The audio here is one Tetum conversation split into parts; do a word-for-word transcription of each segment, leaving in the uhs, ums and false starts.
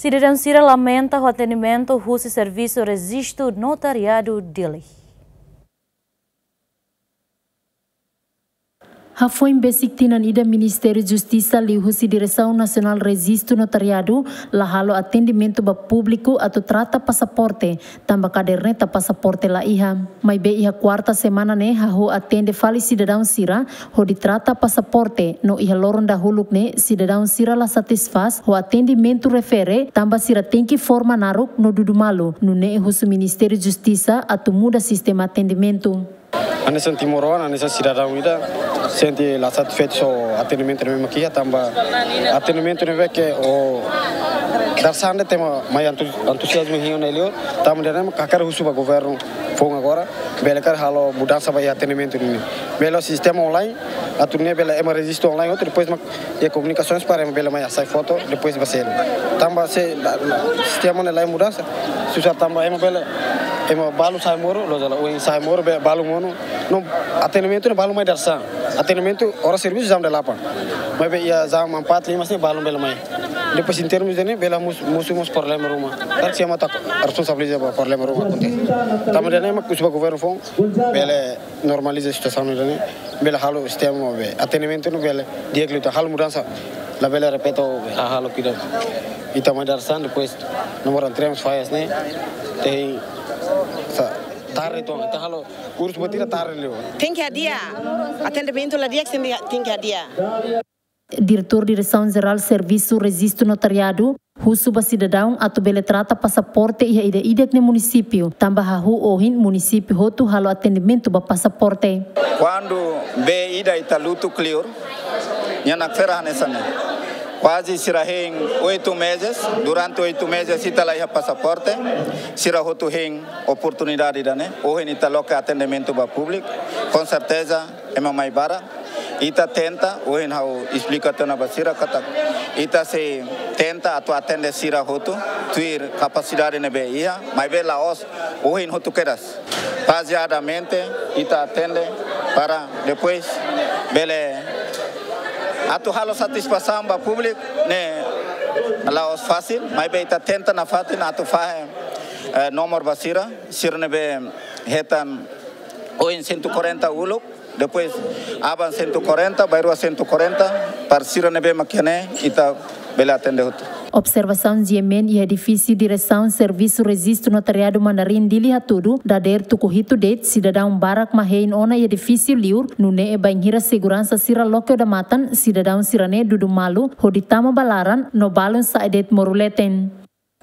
Sidadaun sira lamenta ho atendimentu husi Servisu Rejistu Notariadu Dili. Hafoin besik tinan ida Ministériu Justisa liuhusi Diresaun Nasionál Rejistu Notariadu la halo atendimentu ba públiku atu trata pasaporte, tanba kaderneta pasaporte la iha. Maibé iha kuarta semana ne'e hahú atende fali sidadaun sira hodi trata pasaporte, no iha loron dahuluk ne'e sidadaun sira la satisfás ho atendimentu refere, tanba sira tenke forma naruk no dudu malu, nune'e husu Ministériu Justisa atu muda sistema atendimentu. Hanesan timoroan, hanesan sidadaun ida, sente la satisfeitu ho atendimentu ne'ebé mak iha, tanba atendimentu ne'ebé ke o darsande tema mai entu-, entuziazmu hein ona liu, tanba ida-ne'e mak hakarak husu ba governu foun agora, bele karik halo mudansa ba iha atendimentu ne'e. Bele sistema online, atu nune'e bele ema rejistu online, atu depois mak iha komunikasaun para ema bele mai hasai foto, depois ba selu. Tanba se la, la, sistema ne'e la iha mudansa, susar tanba ema bele, ema balu sa'e moru, loos ka lae, ohin sa'e moru, be-, balu monu. No, atendimentu ne'e balu mai dadeer-saan. Atendimentu oras servisu jam delapan. Maibé iha jam empat, lima sini balu bele mai. Depois em termos de ne'e, bele mós, mós, mós problema ruma. Karik ema atu responsabiliza ba problema ruma akontese. Tanba ida-ne'e mak husu ba governu foun, bele normaliza situasaun ida-ne'e, bele halo sistema be atendimentu ne'e bele di'ak liután, halo mudansa, labele repete be hahú halo kida. Ita mai dadeer-saan, depois nomor entremos faias ne'e, tenke sa tarde, entaun ita halo kursu buat ida tarde liu. Tenke hadi'a, atendimentu la di'ak, tenke, tenke hadi'a. Diretór Diresaun Jerál Servisu Rejistu Notariadu husu ba sidadaun atu bele trata pasaporte iha ida-idak nia munisípiu, tanba hahú ohin munisípiu hotu halo atendimentu ba pasaporte. Kuandu be ida ita lutuk liur, nia nakfera hanesan ne'e. Kuaze sira hein oito meses, durante oito meses ita la iha pasaporte, sira hotu hein oportunidade ida-ne'e, ohin ita loke atendimentu ba públiku, com certeza, ema mai barak. Ita tenta, ohin ha'u esplika tiha ona ba sira katak ita sei tenta atu atende sira hotu, tuir kapasidade ne'ebé iha, maibé la'ós ohin hotu kedas. Fazeadamente, ita atende para depois bele atu halo satisfasaun ba públiku ne'e la'ós fasil, maibé ita tenta nafatin atu fahe, eh, nomor ba sira, sira ne'ebé hetan ohin cento e quarenta uluk, depois aban cento e quarenta, bainrua cento e quarenta, para sira ne'ebé mak iha ne'e, ita bele atende hotu. Observasaun GMN iha edifísiu Diresaun Servisu Rejistu Notariadu Mandarin Dili hatudu, dadeer tuku hitu de'it sidadaun barak mak hein ona iha edifísiu liur, nune'e bainhira seguransa sira loke odamatan, sidadaun sira-ne'e dudu malu hodi tama ba laran no balun sa'e de'it moru leten.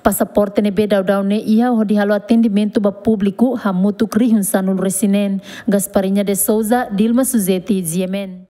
Pasaporte ne'ebé daudaun ne'e iha hodi halo atendimentu ba públiku hamutuk rihun sanulu-resin-neen. Gasparinha de Souza, Dilma Suzeti, GMN.